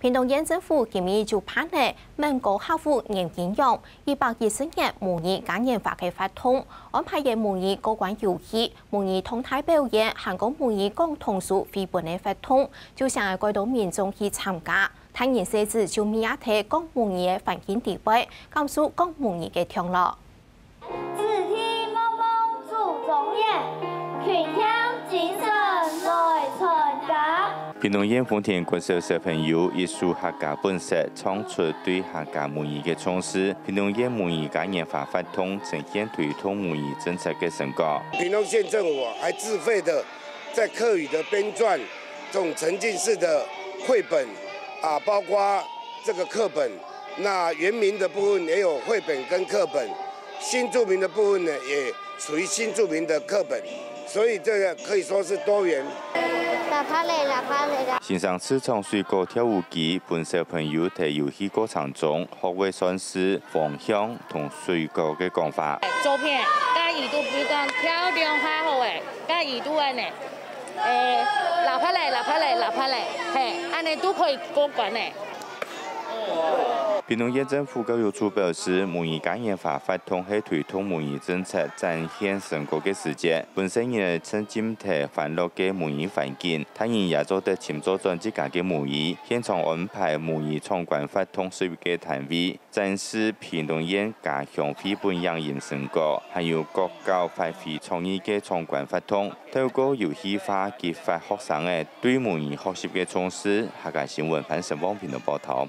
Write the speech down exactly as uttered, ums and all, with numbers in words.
屏東縣政府今日就辦理閩高客戶迎賓洋一百一十年母語嘉年華个活動，安排个母語過關遊戲、母語動態表演，還過母語講童書繪本个活動，就想愛蓋多民眾去參加。大人細子就每日在講母語个環境底背，感受講母語个暢樂。 子弟妹妹祖宗言，群兄精神來傳家。屏東縣豐田國小小朋友以書客家本色，唱出對客家母語个重視。屏東縣母語嘉年華活動呈現推動母語政策个成果。屏東縣政府還自費的在客語的編撰這種沉浸式的繪本啊，包括這個課本，那原民的部分也有繪本跟課本，新住民的部分呢也屬於新住民的課本，所以這個可以說是多元。喇叭咧，喇叭咧，喇。先生試唱水果跳舞機，分小朋友在遊戲過程中學會算式、方向同水果个講法。左片，加耳朵，比如講跳兩下好誒，加耳朵按呢。 誒，喇叭咧，喇叭咧，喇叭咧，嘿，按呢都可以過關咧。屏東縣政府教育處表示，母語嘉年華活動係推動母語政策展現成果个時節，分細人仔沉浸在歡樂个母語環境，大人也做得尋找轉自家个母語，現場安排母語闖關活動十一个攤位， 展示屏東縣家鄉繪本影音成果，還有各校發揮創意个闖關活動，透過遊戲化激發學生仔對母語學習个重視。客家新聞潘成旺屏東報導。